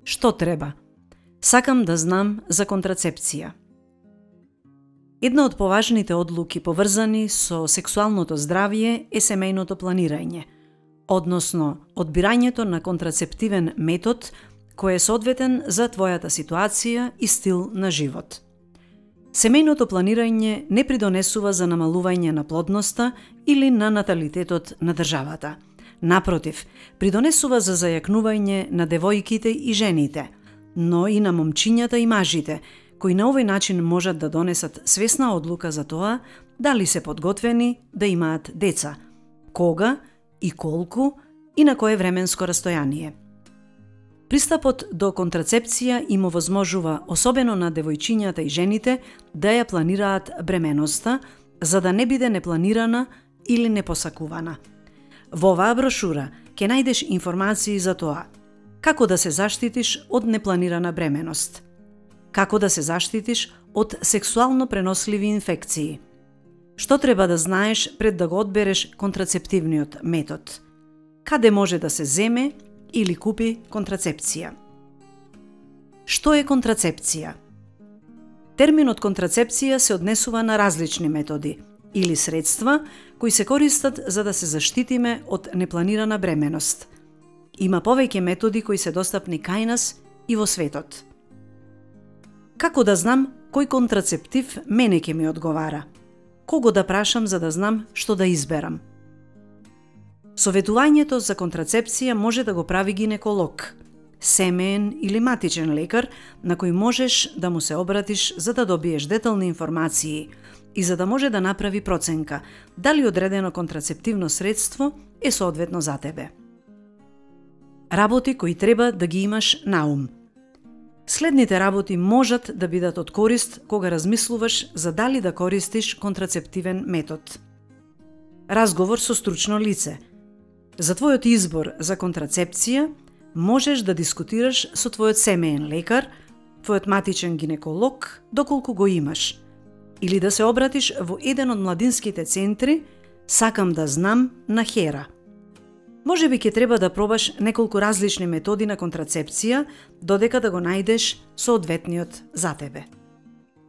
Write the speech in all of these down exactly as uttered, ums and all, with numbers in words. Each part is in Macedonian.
Што треба? Сакам да знам за контрацепција. Една од поважните одлуки поврзани со сексуалното здравје е семејното планирање, односно одбирањето на контрацептивен метод кој е соодветен за твојата ситуација и стил на живот. Семејното планирање не придонесува за намалување на плодноста или на наталитетот на државата. Напротив, придонесува за зајакнување на девојките и жените, но и на момчињата и мажите, кои на овој начин можат да донесат свесна одлука за тоа дали се подготвени да имаат деца, кога и колку и на кое временско растојание. Пристапот до контрацепција им овозможува, особено на девојчињата и жените, да ја планираат бременоста, за да не биде непланирана или непосакувана. Во оваа брошура ќе најдеш информации за тоа како да се заштитиш од непланирана бременост, како да се заштитиш од сексуално преносливи инфекции, што треба да знаеш пред да го одбереш контрацептивниот метод, каде може да се земе или купи контрацепција. Што е контрацепција? Терминот контрацепција се однесува на различни методи или средства кои се користат за да се заштитиме од непланирана бременост. Има повеќе методи кои се достапни кај нас и во светот. Како да знам кој контрацептив мене ќе ми одговара? Кого да прашам за да знам што да изберам? Советувањето за контрацепција може да го прави гинеколог, семеен или матичен лекар на кој можеш да му се обратиш за да добиеш детални информации и за да може да направи проценка дали одредено контрацептивно средство е соодветно за тебе. Работи кои треба да ги имаш на ум. Следните работи можат да бидат од корист кога размислуваш за дали да користиш контрацептивен метод. Разговор со стручно лице. За твојот избор за контрацепција можеш да дискутираш со твојот семеен лекар, твојот матичен гинеколог, доколку го имаш, или да се обратиш во еден од младинските центри "Сакам да знам" на Хера. Може би ќе треба да пробаш неколку различни методи на контрацепција додека да го најдеш соодветниот за тебе.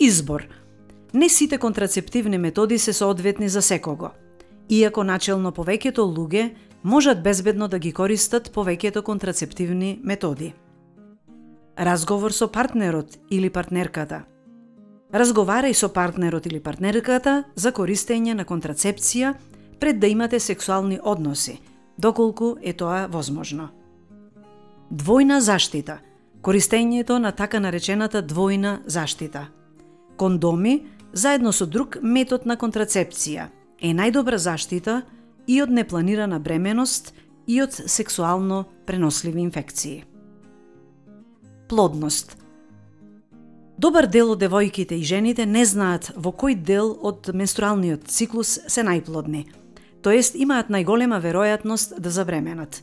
Избор. Не сите контрацептивни методи се соодветни за секого, иако начелно повеќето луѓе можат безбедно да ги користат повеќето контрацептивни методи. Разговор со партнерот или партнерката. Разговарај со партнерот или партнерката за користење на контрацепција пред да имате сексуални односи, доколку е тоа возможно. Двојна заштита. Користењето на така наречената двојна заштита. Кондоми, заедно со друг метод на контрацепција, е најдобра заштита и од непланирана бременост и од сексуално преносливи инфекции. Плодност. Добар дел од девојките и жените не знаат во кој дел од менструалниот циклус се најплодни, тоест имаат најголема веројатност да забременат.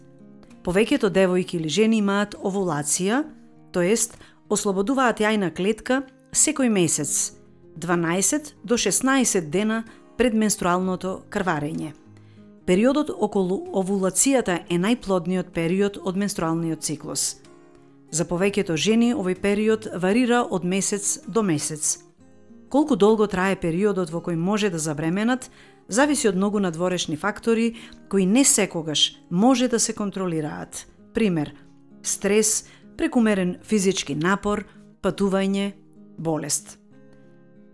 Повеќето девојки или жени имаат овулација, тоест ослободуваат јајна клетка секој месец, дванаесет до шеснаесет дена пред менструалното крварење. Периодот околу овулацијата е најплодниот период од менструалниот циклус. За повеќето жени овој период варира од месец до месец. Колку долго трае периодот во кој може да забременат, зависи од многу надворешни фактори кои не секогаш може да се контролираат. Пример: стрес, прекумерен физички напор, патување, болест.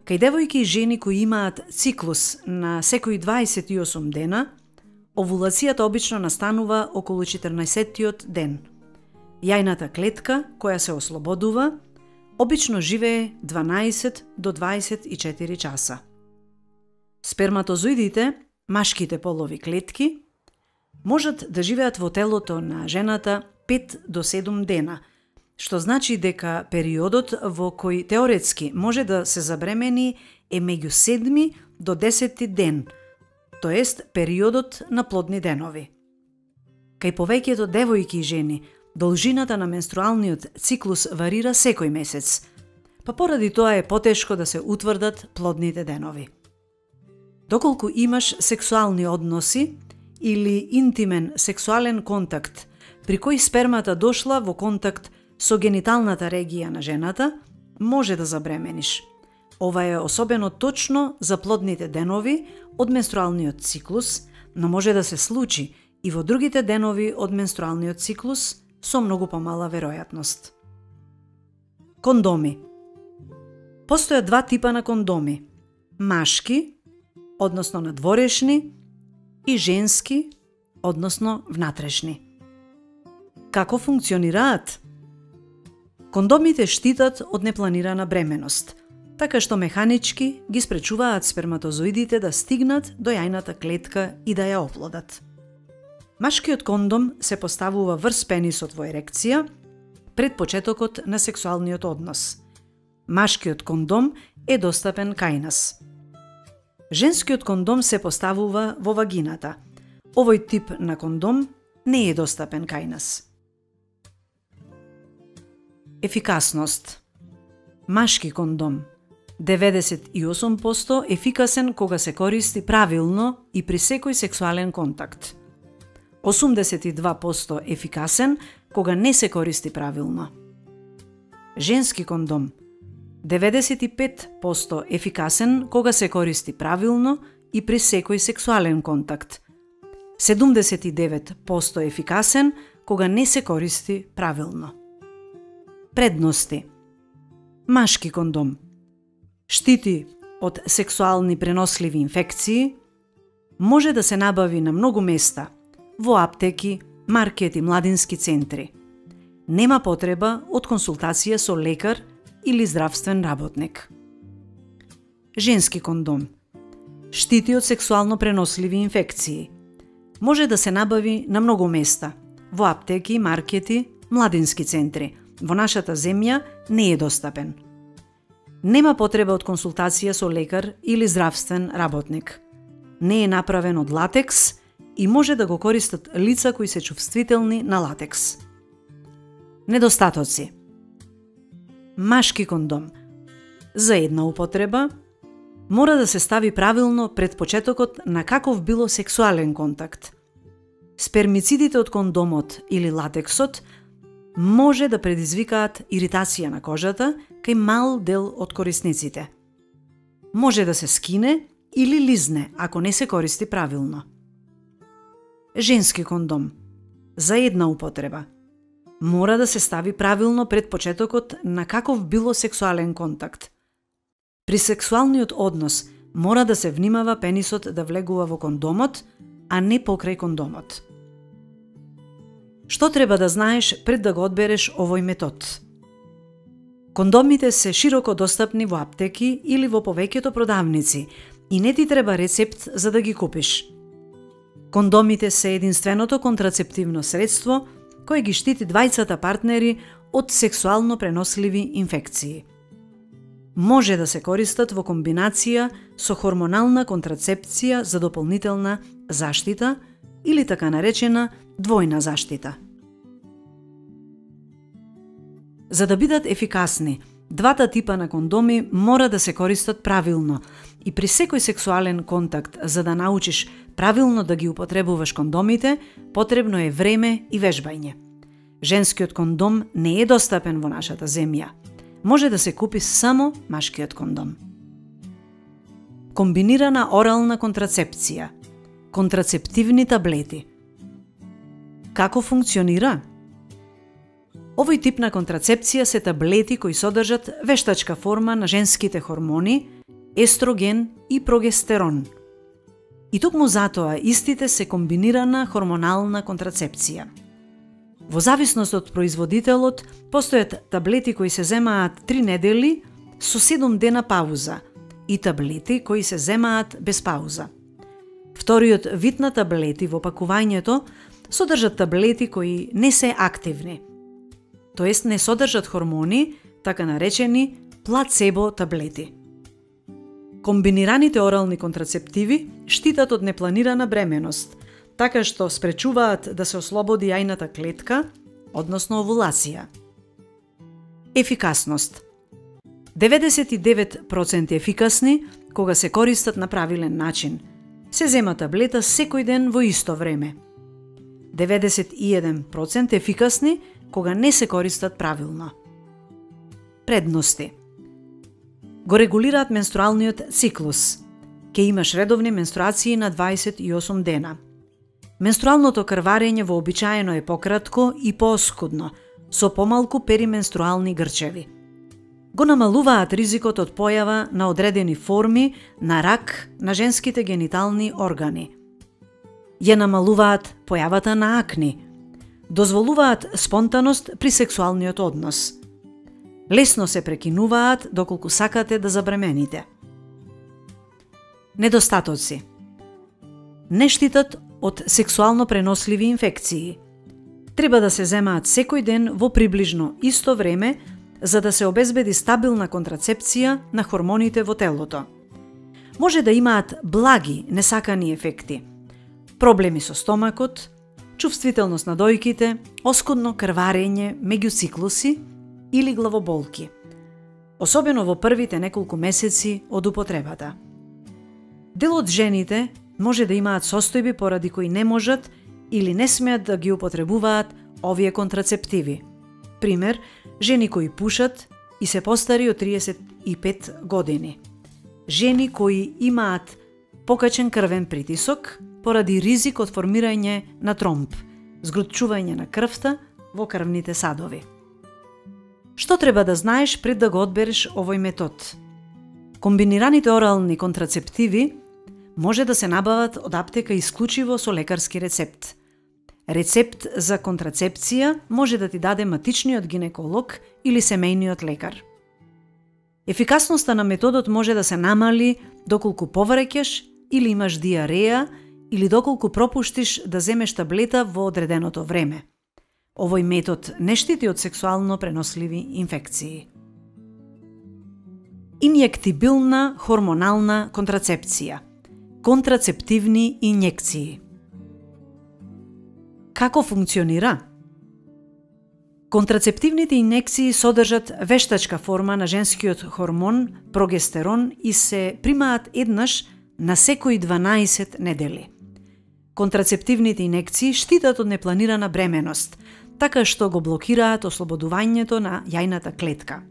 Кај девојки и жени кои имаат циклус на секои дваесет и осум дена, овулацијата обично настанува околу четрнаесеттиот ден. Јајната клетка, која се ослободува, обично живее дванаесет до дваесет и четири часа. Сперматозоидите, машките полови клетки, можат да живеат во телото на жената пет до седум дена, што значи дека периодот во кој теоретски може да се забремени е меѓу седми до десети ден, тоест периодот на плодни денови. Кај повеќето девојки и жени, должината на менструалниот циклус варира секој месец, па поради тоа е потешко да се утврдат плодните денови. Доколку имаш сексуални односи или интимен сексуален контакт, при кој спермата дошла во контакт со гениталната регија на жената, може да забремениш. Ова е особено точно за плодните денови од менструалниот циклус, но може да се случи и во другите денови од менструалниот циклус со многу помала веројатност. Кондоми. Постојат два типа на кондоми. Машки, односно надворешни, и женски, односно внатрешни. Како функционираат? Кондомите штитат од непланирана бременост, така што механички ги спречуваат сперматозоидите да стигнат до јајната клетка и да ја оплодат. Машкиот кондом се поставува врз пенисот во ерекција пред почетокот на сексуалниот однос. Машкиот кондом е достапен кај нас. Женскиот кондом се поставува во вагината. Овој тип на кондом не е достапен кај нас. Ефикасност. Машки кондом деветдесет и осум проценти ефикасен кога се користи правилно и при секој сексуален контакт. осумдесет и два проценти ефикасен кога не се користи правилно. Женски кондом деветдесет и пет проценти ефикасен кога се користи правилно и при секој сексуален контакт. седумдесет и девет проценти ефикасен кога не се користи правилно. Предности. Машки кондом штити од сексуални преносливи инфекции, може да се набави на многу места, во аптеки, маркети, младински центри. Нема потреба од консултација со лекар или здравствен работник. Женски кондом штити од сексуално преносливи инфекции. Може да се набави на многу места, во аптеки, маркети, младински центри. Во нашата земја не е достапен. Нема потреба од консултација со лекар или здравствен работник. Не е направен од латекс и може да го користат лица кои се чувствителни на латекс. Недостатоци. Машки кондом за една употреба мора да се стави правилно пред почетокот на каков било сексуален контакт. Спермицидите од кондомот или латексот може да предизвикаат иритација на кожата кај мал дел од корисниците. Може да се скине или лизне ако не се користи правилно. Женски кондом за една употреба мора да се стави правилно пред почетокот на каков било сексуален контакт. При сексуалниот однос мора да се внимава пенисот да влегува во кондомот, а не покрај кондомот. Што треба да знаеш пред да го одбереш овој метод? Кондомите се широко достапни во аптеки или во повеќето продавници и не ти треба рецепт за да ги купиш. Кондомите се единственото контрацептивно средство кое ги штити двајцата партнери од сексуално преносливи инфекции. Може да се користат во комбинација со хормонална контрацепција за дополнителна заштита или така наречена двојна заштита. За да бидат ефикасни, двата типа на кондоми мора да се користат правилно и при секој сексуален контакт, за да научиш правилно да ги употребуваш кондомите, потребно е време и вежбање. Женскиот кондом не е достапен во нашата земја. Може да се купи само машкиот кондом. Комбинирана орална контрацепција. Контрацептивни таблети. Како функционира? Овој тип на контрацепција се таблети кои содржат вештачка форма на женските хормони, естроген и прогестерон. И токму затоа истите се комбинирана хормонална контрацепција. Во зависност од производителот, постојат таблети кои се земаат три недели со седум дена пауза и таблети кои се земаат без пауза. Вториот вид на таблети во пакувањето содржат таблети кои не се активни, тоест не содржат хормони, така наречени плацебо таблети. Комбинираните орални контрацептиви штитат од непланирана бременост, така што спречуваат да се ослободи јајната клетка, односно овулација. Ефикасност. деветдесет и девет проценти ефикасни кога се користат на правилен начин. Се зема таблета секој ден во исто време. деветдесет и еден проценти ефикасни кога не се користат правилно. Предности. Го регулираат менструалниот циклус. Ке имаш редовни менструации на дваесет и осум дена. Менструалното крварење вообичаено е пократко и пооскудно, со помалку перименструални грчеви. Го намалуваат ризикот од појава на одредени форми на рак на женските генитални органи. Ја намалуваат појавата на акни. Дозволуваат спонтаност при сексуалниот однос. Лесно се прекинуваат доколку сакате да забремените. Недостатоци. Не штитат од сексуално преносливи инфекции. Треба да се земаат секој ден во приближно исто време за да се обезбеди стабилна контрацепција на хормоните во телото. Може да имаат благи несакани ефекти. Проблеми со стомакот, чувствителност на дојките, оскудно крварење меѓу циклуси или главоболки, особено во првите неколку месеци од употребата. Дел од жените може да имаат состојби поради кои не можат или не смеат да ги употребуваат овие контрацептиви. Пример, жени кои пушат и се постари од триесет и пет години. Жени кои имаат покачен крвен притисок поради ризик од формирање на тромб, згрутчување на крвта во крвните садови. Што треба да знаеш пред да го одбереш овој метод? Комбинираните орални контрацептиви може да се набават од аптека исклучиво со лекарски рецепт. Рецепт за контрацепција може да ти даде матичниот гинеколог или семејниот лекар. Ефикасноста на методот може да се намали доколку повреќаш или имаш диареја или доколку пропуштиш да земеш таблета во одреденото време. Овој метод не штити од сексуално преносливи инфекции. Инјектибилна хормонална контрацепција. Контрацептивни инјекции. Како функционира? Контрацептивните инјекции содржат вештачка форма на женскиот хормон прогестерон и се примаат еднаш на секои дванаесет недели. Контрацептивните инјекции штитат од непланирана бременост, така што го блокираат ослободувањето на јајната клетка.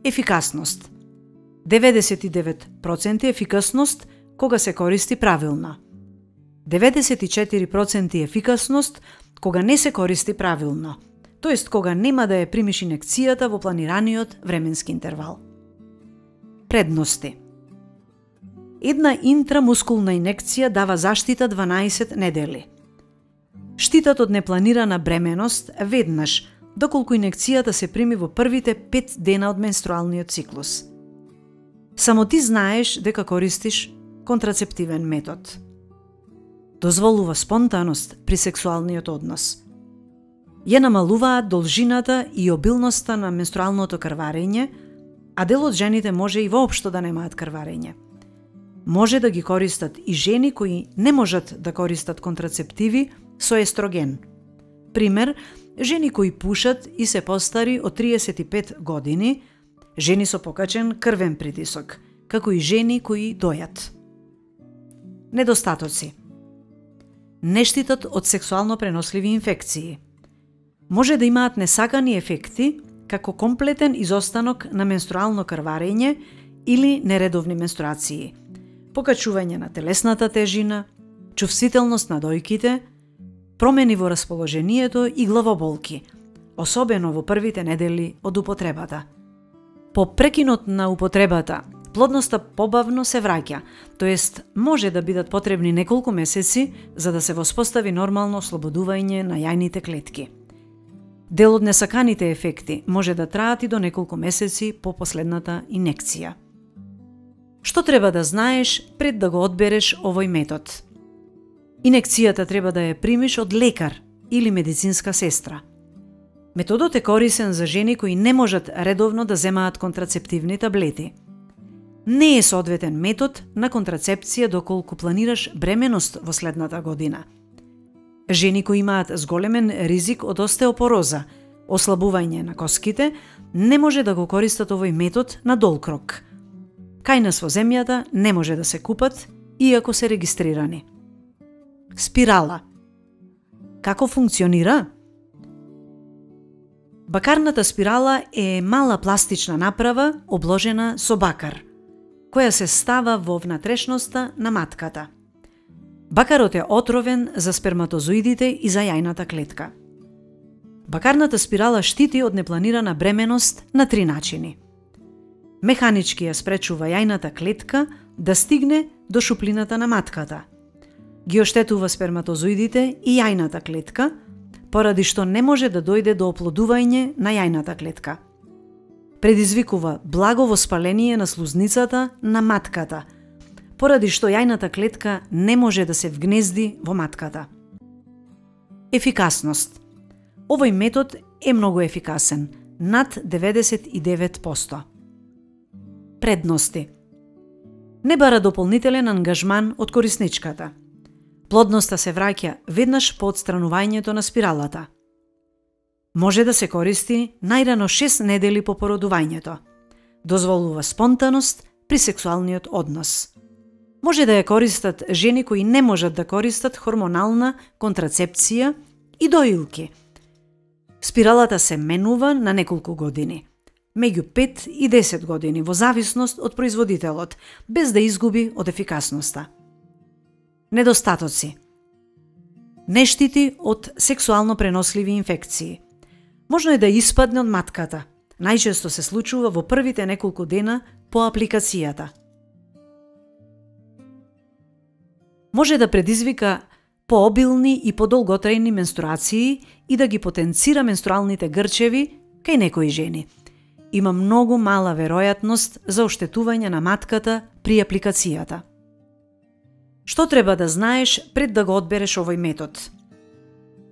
Ефикасност. деветдесет и девет проценти ефикасност кога се користи правилно. деветдесет и четири проценти ефикасност кога не се користи правилно, тоест кога нема да ја примиш инекцијата во планираниот временски интервал. Предности. Една интрамускулна инекција дава заштита дванаесет недели. Штитат од непланирана бременост веднаш, доколку инекцијата се прими во првите пет дена од менструалниот циклус. Само ти знаеш дека користиш контрацептивен метод. Дозволува спонтаност при сексуалниот однос. Ја намалуваат должината и обилноста на менструалното крварење, а дел од жените може и воопшто да немаат крварење. Може да ги користат и жени кои не можат да користат контрацептиви со естроген. Пример, жени кои пушат и се постари од триесет и пет години, жени со покачен крвен притисок, како и жени кои дојат. Недостатоци. Не штитат од сексуално преносливи инфекции. Може да имаат несакани ефекти, како комплетен изостанок на менструално крварење или нередовни менструации, покачување на телесната тежина, чувствителност на дојките, промени во расположението и главоболки, особено во првите недели од употребата. По прекинот на употребата, плодноста побавно се враќа, тоест може да бидат потребни неколку месеци за да се воспостави нормално ослободување на јајните клетки. Дел од несаканите ефекти може да траат и до неколку месеци по последната инекција. Што треба да знаеш пред да го одбереш овој метод? Инекцијата треба да ја примиш од лекар или медицинска сестра. Методот е корисен за жени кои не можат редовно да земаат контрацептивни таблети. Не е соодветен метод на контрацепција доколку планираш бременост во следната година. Жени кои имаат зголемен ризик од остеопороза, ослабување на коските, не може да го користат овој метод на долг рок. Кај нас во земјата не може да се купат, иако се регистрирани. Спирала. Како функционира? Бакарната спирала е мала пластична направа обложена со бакар, која се става во внатрешноста на матката. Бакарот е отровен за сперматозоидите и за јајната клетка. Бакарната спирала штити од непланирана бременост на три начини. Механички ја спречува јајната клетка да стигне до шуплината на матката. Ги оштетува сперматозоидите и јајната клетка, поради што не може да дојде до оплодување на јајната клетка. Предизвикува благо воспаление на слузницата на матката, поради што јајната клетка не може да се вгнезди во матката. Ефикасност. Овој метод е многу ефикасен, над деветдесет и девет проценти. Предности. Не бара дополнителен ангажман од корисничката. Плодноста се враќа веднаш по отстранувањето на спиралата. Може да се користи најрано шест недели по породувањето. Дозволува спонтаност при сексуалниот однос. Може да ја користат жени кои не можат да користат хормонална контрацепција и доилки. Спиралата се менува на неколку години, меѓу пет и десет години во зависност од производителот, без да изгуби од ефикасноста. Недостатоци. Не штити од сексуално преносливи инфекции. Можно е да испадне од матката. Најчесто се случува во првите неколку дена по апликацијата. Може да предизвика пообилни и подолготрајни менструации и да ги потенцира менструалните грчеви кај некои жени. Има многу мала веројатност за оштетување на матката при апликацијата. Што треба да знаеш пред да го одбереш овој метод?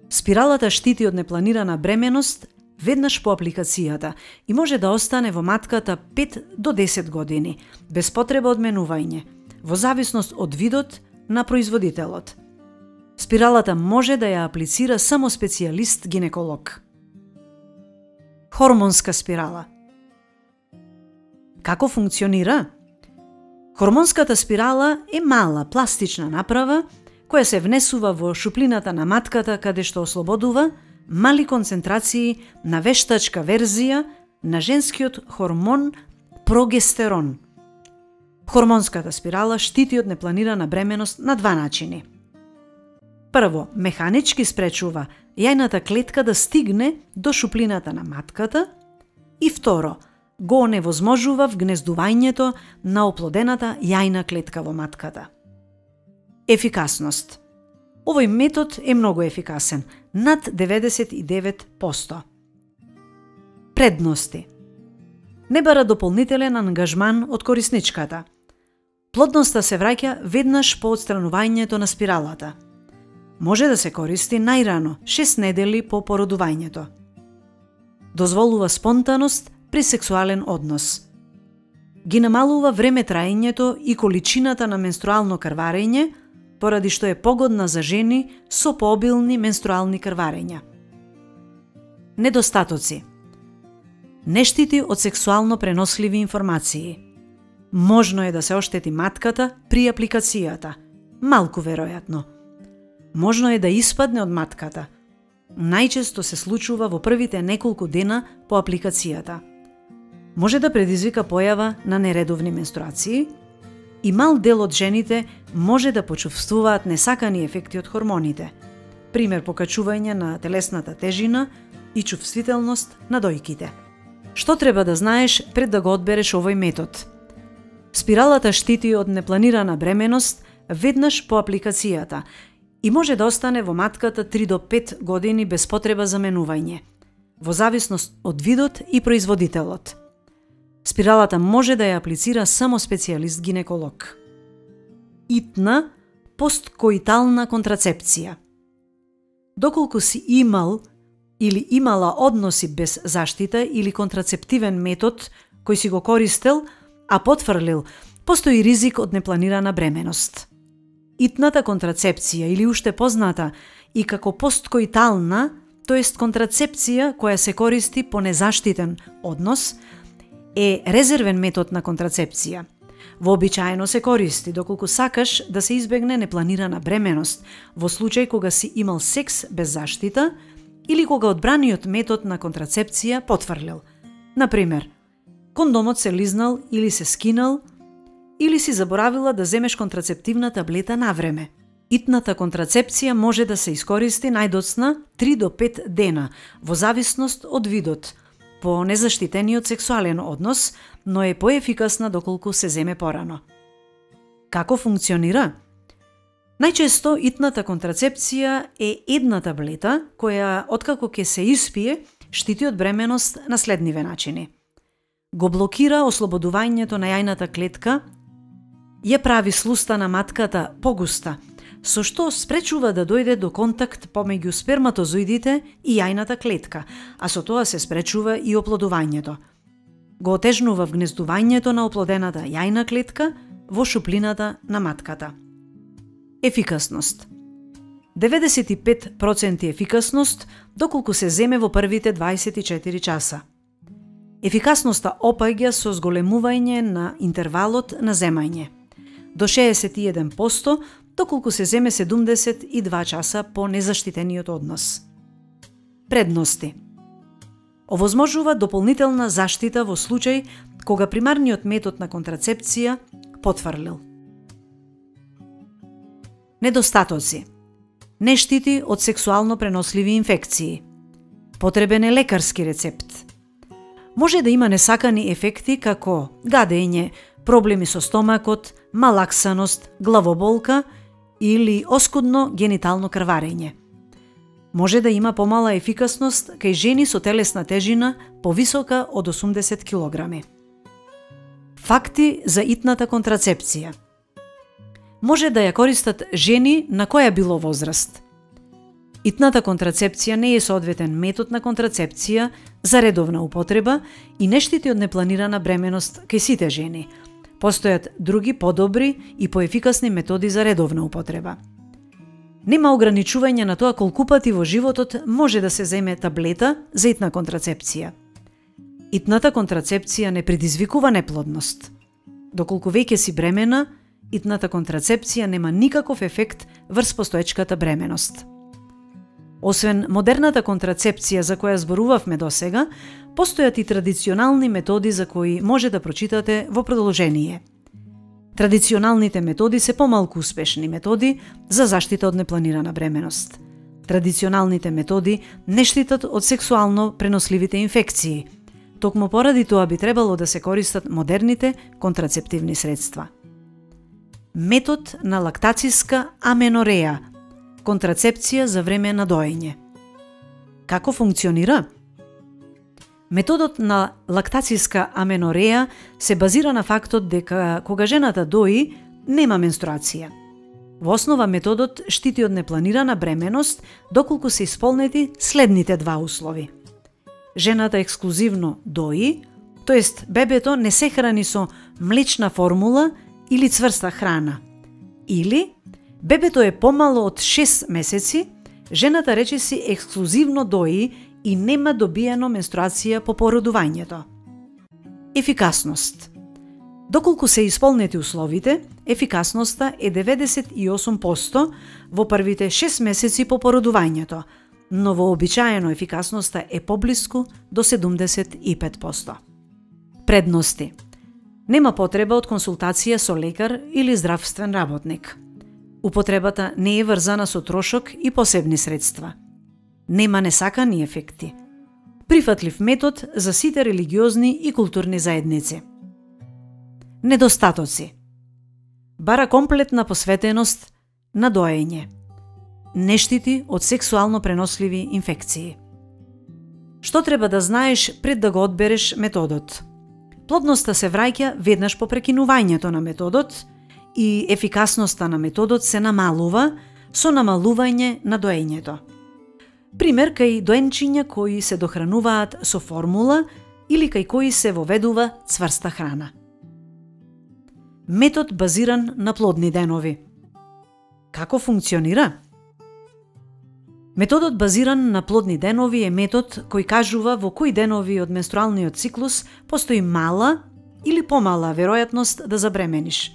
Спиралата штити од непланирана бременост веднаш по апликацијата и може да остане во матката пет до десет години, без потреба од менување, во зависност од видот на производителот. Спиралата може да ја аплицира само специјалист гинеколог. Хормонска спирала. Како функционира? Хормонската спирала е мала пластична направа која се внесува во шуплината на матката каде што ослободува мали концентрации на вештачка верзија на женскиот хормон прогестерон. Хормонската спирала штити од непланирана бременост на два начини. Прво, механички спречува јајната клетка да стигне до шуплината на матката и второ, го оневозможува вгнездувањето на оплодената јајна клетка во матката. Ефикасност. Овој метод е многу ефикасен, над деветдесет и девет проценти. Предности. Не бара дополнителен ангажман од корисничката. Плодноста се враќа веднаш по отстранувањето на спиралата. Може да се користи најрано шест недели по породувањето. Дозволува спонтаност при сексуален однос. Ги намалува време траењето и количината на менструално крварење, поради што е погодна за жени со пообилни менструални крварења. Недостатоци. Не штити од сексуално преносливи информации. Можно е да се оштети матката при апликацијата, малку веројатно. Можно е да испадне од матката. Најчесто се случува во првите неколку дена по апликацијата. Може да предизвика појава на нередовни менструации и мал дел од жените може да почувствуваат несакани ефекти од хормоните, пример покачување на телесната тежина и чувствителност на дојките. Што треба да знаеш пред да го одбереш овој метод? Спиралата штити од непланирана бременост веднаш по апликацијата и може да остане во матката три до пет години без потреба за менување, во зависност од видот и производителот. Спиралата може да ја аплицира само специјалист гинеколог. Итна посткоитална контрацепција. Доколку си имал или имала односи без заштита или контрацептивен метод кој си го користел, а потврлил, постои ризик од непланирана бременост. Итната контрацепција или уште позната и како посткоитална, тоест контрацепција која се користи по незаштитен однос, е резервен метод на контрацепција. Вообичаено се користи доколку сакаш да се избегне непланирана бременост во случај кога си имал секс без заштита или кога одбраниот метод на контрацепција потврлил. Например, кондомот се лизнал или се скинал, или си заборавила да земеш контрацептивна таблета на време. Итната контрацепција може да се искористи најдоцна три до пет дена, во зависност од видот, по незаштитениот сексуален однос, но е поефикасна доколку се земе порано. Како функционира? Најчесто итната контрацепција е една таблета која, откако ќе се испие, штити од бременост на следниве начини. Го блокира ослободувањето на јајната клетка, ја прави слуста на матката погуста, со што спречува да дојде до контакт помеѓу сперматозоидите и јајната клетка, а со тоа се спречува и оплодувањето. Го отежнува вгнездувањето на оплодената јајна клетка во шуплината на матката. Ефикасност. деветдесет и пет проценти ефикасност доколку се земе во првите дваесет и четири часа. Ефикасноста опаѓа со зголемување на интервалот на земање. До шеесет и еден проценти доколку се земе седумдесет и два часа по незаштитениот однос. Предности. Овозможува дополнителна заштита во случај кога примарниот метод на контрацепција потврлил. Недостатоци. Не штити од сексуално преносливи инфекции. Потребен е лекарски рецепт. Може да има несакани ефекти како гадење, проблеми со стомакот, малаксаност, главоболка или оскудно генитално крварење. Може да има помала ефикасност кај жени со телесна тежина повисока од осумдесет килограми. Факти за итната контрацепција. Може да ја користат жени на која било возраст. Итната контрацепција не е соодветен метод на контрацепција за редовна употреба и не штити од непланирана бременост кај сите жени. Постојат други подобри и поефикасни методи за редовна употреба. Нема ограничување на тоа колку пати во животот може да се земе таблета за итна контрацепција. Итната контрацепција не предизвикува неплодност. Доколку веќе си бремена, итната контрацепција нема никаков ефект врз постоечката бременост. Освен модерната контрацепција за која зборувавме досега, постојат и традиционални методи за кои може да прочитате во продолжение. Традиционалните методи се помалку успешни методи за заштита од непланирана бременост. Традиционалните методи не штитат од сексуално преносливите инфекции. Токму поради тоа би требало да се користат модерните контрацептивни средства. Метод на лактациска аменореја, контрацепција за време на доење. Како функционира? Методот на лактациска аменореја се базира на фактот дека кога жената дои, нема менструација. Во основа методот штити од непланирана бременост доколку се исполнети следните два услови. Жената ексклузивно дои, тоест бебето не се храни со млечна формула или цврста храна. Или бебето е помало од шест месеци, жената речиси ексклузивно дои и нема добиено менструација по породувањето. Ефикасност. Доколку се исполнети условите, ефикасноста е деветдесет и осум проценти во првите шест месеци по породувањето, но вообичаено ефикасноста е поблиску до седумдесет и пет проценти. Предности. Нема потреба од консултација со лекар или здравствен работник. Употребата не е врзана со трошок и посебни средства. Нема несакани ефекти. Прифатлив метод за сите религиозни и културни заедници. Недостатоци. Бара комплетна посветеност на доење. Не штити од сексуално преносливи инфекции. Што треба да знаеш пред да го одбереш методот? Плодноста се враќа веднаш по прекинувањето на методот и ефикасноста на методот се намалува со намалување на доењето. Пример кај доенчиња кои се дохрануваат со формула или кај кои се воведува цврста храна. Метод базиран на плодни денови. Како функционира? Методот базиран на плодни денови е метод кој кажува во кои денови од менструалниот циклус постои мала или помала веројатност да забремениш.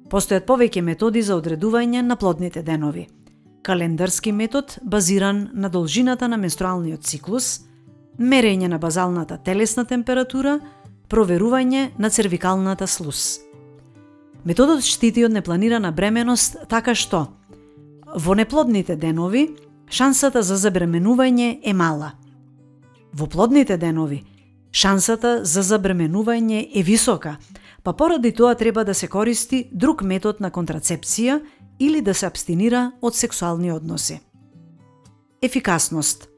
Постојат повеќе методи за одредување на плодните денови. календарски метод базиран на должината на менструалниот циклус, мерење на базалната телесна температура, проверување на цервикалната слуз. Методот штити од непланирана бременост така што во неплодните денови шансата за забременување е мала. Во плодните денови шансата за забременување е висока, па поради тоа треба да се користи друг метод на контрацепција или да се абстинира од сексуални односи. Ефикасност.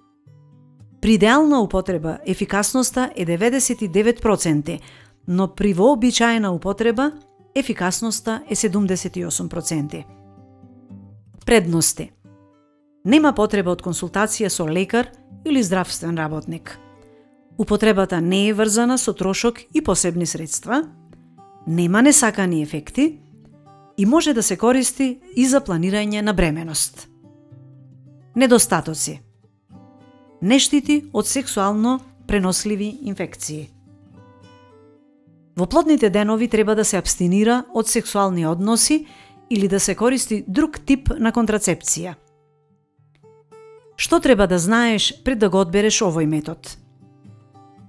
При идеална употреба ефикасноста е деветдесет и девет проценти, но при вообичаена употреба ефикасноста е седумдесет и осум проценти. Предности. Нема потреба од консултација со лекар или здравствен работник. Употребата не е врзана со трошок и посебни средства, нема несакани ефекти и може да се користи и за планирање на бременост. Недостатоци. Не штити од сексуално преносливи инфекции. Во плодните денови треба да се абстинира од сексуални односи или да се користи друг тип на контрацепција. Што треба да знаеш пред да го одбереш овој метод?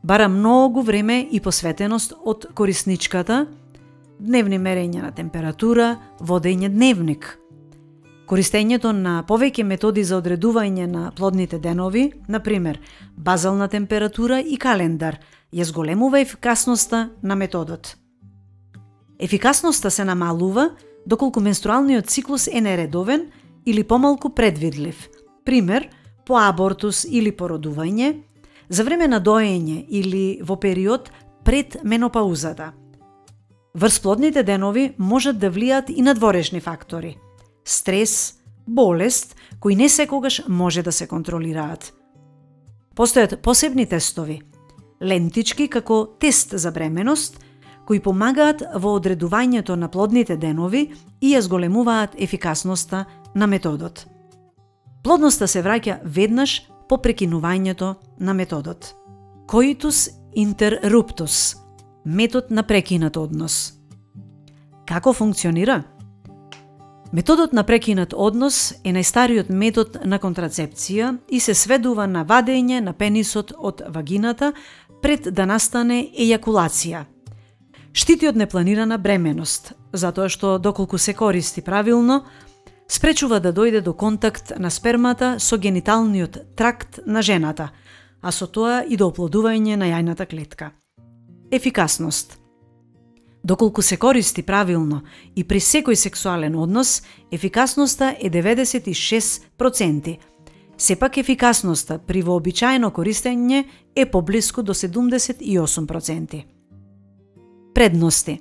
Бара многу време и посветеност од корисничката, дневни мерења на температура, водење дневник. Користењето на повеќе методи за одредување на плодните денови, например, базална температура и календар, ја зголемува ефикасноста на методот. Ефикасноста се намалува доколку менструалниот циклус е нередовен или помалку предвидлив, пример, по абортус или породување, за време на доење или во период пред менопаузата. Врз плодните денови можат да влијат и надворешни фактори – стрес, болест, кои не секогаш може да се контролираат. Постојат посебни тестови, лентички како тест за бременост, кои помагаат во одредувањето на плодните денови и ја зголемуваат ефикасноста на методот. Плодноста се враќа веднаш по прекинувањето на методот. Coitus interruptus – метод на прекинат однос. Како функционира? Методот на прекинат однос е најстариот метод на контрацепција и се сведува на вадење на пенисот од вагината пред да настане ејакулација. Штити од непланирана бременост, затоа што доколку се користи правилно, спречува да дојде до контакт на спермата со гениталниот тракт на жената, а со тоа и до оплодување на јајната клетка. Ефикасност. Доколку се користи правилно и при секој сексуален однос, ефикасноста е деветдесет и шест проценти. Сепак ефикасноста при вообичаено користење е поблиску до седумдесет и осум проценти. Предности.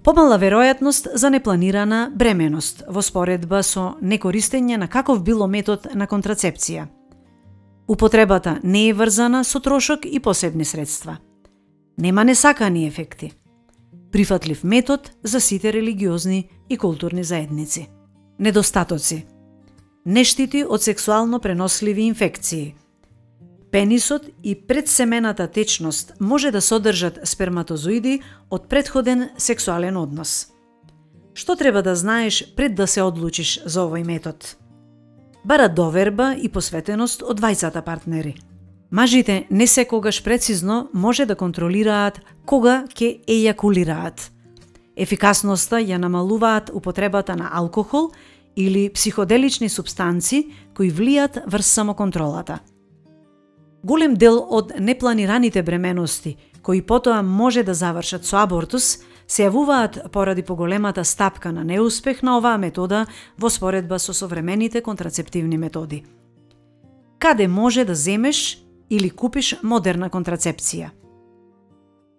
Помала веројатност за непланирана бременост во споредба со некористење на каков било метод на контрацепција. Употребата не е врзана со трошок и посебни средства. Нема несакани ефекти. Прифатлив метод за сите религиозни и културни заедници. Недостатоци. Не штити од сексуално преносливи инфекции. Пенисот и предсемената течност може да содржат сперматозоиди од претходен сексуален однос. Што треба да знаеш пред да се одлучиш за овој метод? Бара доверба и посветеност од двајцата партнери. Мажите не секогаш прецизно може да контролираат кога ќе ејакулираат. Ефикасноста ја намалуваат употребата на алкохол или психоделични супстанци кои влијат врз самоконтролата. Голем дел од непланираните бременности, кои потоа може да завршат со абортус, се јавуваат поради поголемата стапка на неуспех на оваа метода во споредба со современите контрацептивни методи. Каде може да земеш или купиш модерна контрацепција?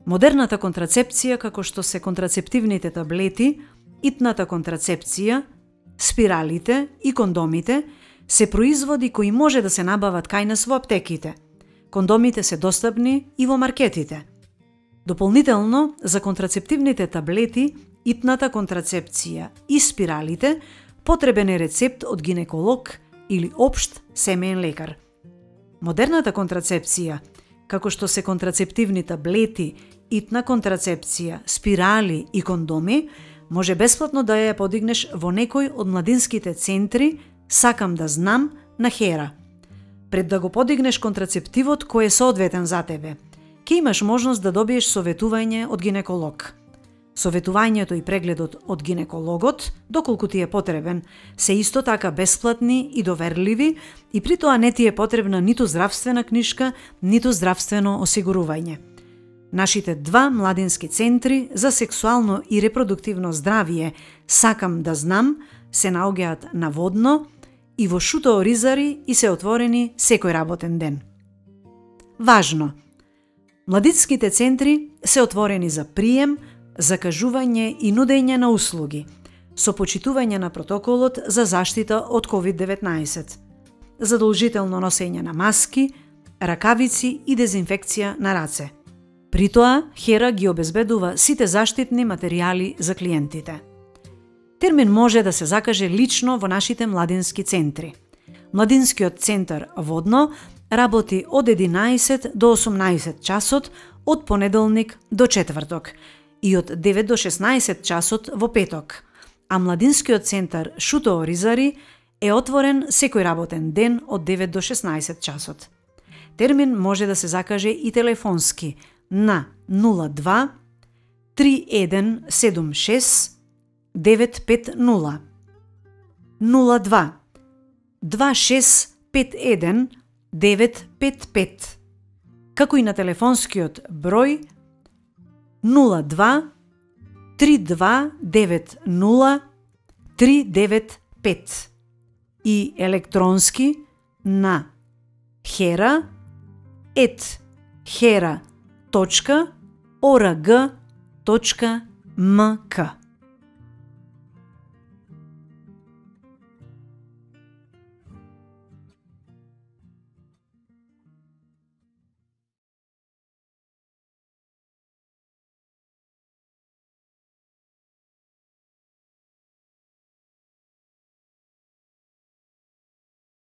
Модерната контрацепција, како што се контрацептивните таблети, итната контрацепција, спиралите и кондомите, се производи кои може да се набават кај нас во аптеките. Кондомите се достапни и во маркетите. Дополнително, за контрацептивните таблети, итната контрацепција и спиралите, потребен е рецепт од гинеколог или општ семеен лекар. Модерната контрацепција, како што се контрацептивни таблети, итна контрацепција, спирали и кондоми, Може бесплатно да ја подигнеш во некој од младинските центри Сакам да знам на Хера. Пред да го подигнеш контрацептивот кој е соодветен за тебе, ќе имаш можност да добиеш советување од гинеколог. Советувањето и прегледот од гинекологот, доколку ти е потребен, се исто така бесплатни и доверливи и при тоа не ти е потребна ниту здравствена книшка, ниту здравствено осигурување. Нашите два младински центри за сексуално и репродуктивно здравје Сакам да знам се наоѓаат на Водно и во Шутово Ризари и се отворени секој работен ден. Важно! Младинските центри се отворени за прием, закажување и нудење на услуги, со почитување на протоколот за заштита од ковид деветнаесет, задолжително носење на маски, ракавици и дезинфекција на раце. При тоа, Хера ги обезбедува сите заштитни материјали за клиентите. Термин може да се закаже лично во нашите младински центри. Младинскиот центар Водно работи од единаесет до осумнаесет часот од понеделник до четврток и од девет до шеснаесет часот во петок, а младинскиот центар Шутово Ризари е отворен секој работен ден од девет до шеснаесет часот. Термин може да се закаже и телефонски на нула два три еден седум шест девет пет нула, нула два два шест пет еден девет пет пет, како и на телефонскиот број нула два три два девет нула три девет пет и електронски на hera ет hera точка орг точка мк.